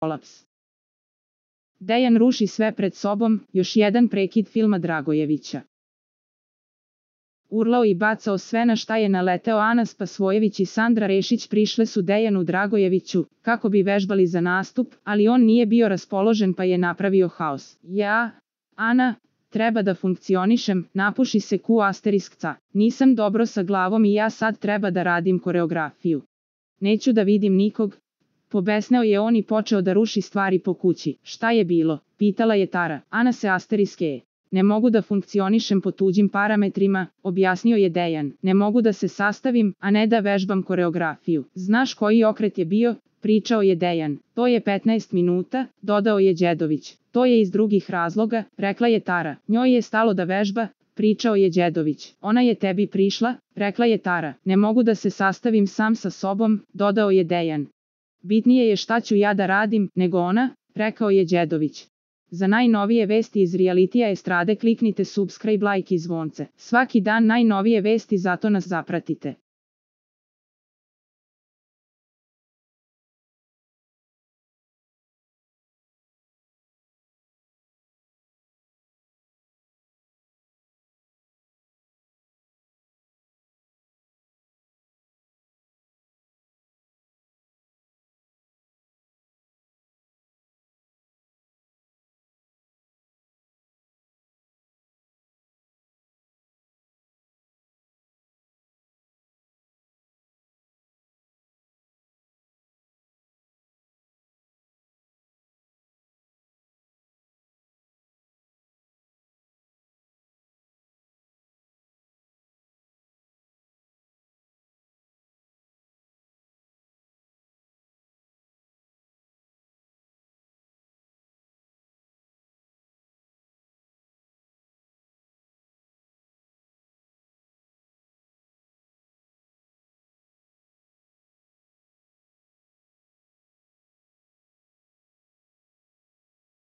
kolaps. Dejan ruši sve pred sobom, još jedan prekid filma Dragojevića. Urlao i bacao sve na šta je naleteo Ana Spasojević i Sandra Rešić prišle su Dejanu Dragojeviću, kako bi vežbali za nastup, ali on nije bio raspoložen pa je napravio haos. Ana, treba da funkcionišem, napuši se ***, nisam dobro sa glavom i ja sad treba da radim koreografiju. Neću da vidim nikog. Pobesneo je on i počeo da ruši stvari po kući. Šta je bilo? Pitala je Tara. Ana se ***. Ne mogu da funkcionišem po tuđim parametrima, objasnio je Dejan. Ne mogu da se sastavim, a ne da vežbam koreografiju. Znaš koji okret je bio? Pričao je Dejan. To je 15 minuta, dodao je Đedović. To je iz drugih razloga, rekla je Tara. Njoj je stalo da vežba, pričao je Đedović. Ona je tebi prišla, rekla je Tara. Ne mogu da se sastavim sam sa sobom, dodao je Dejan. Bitnije je šta ću ja da radim, nego ona, rekao je Đedović. Za najnovije vesti iz realitija estrade kliknite subscribe, like i zvonce. Svaki dan najnovije vesti, zato nas zapratite.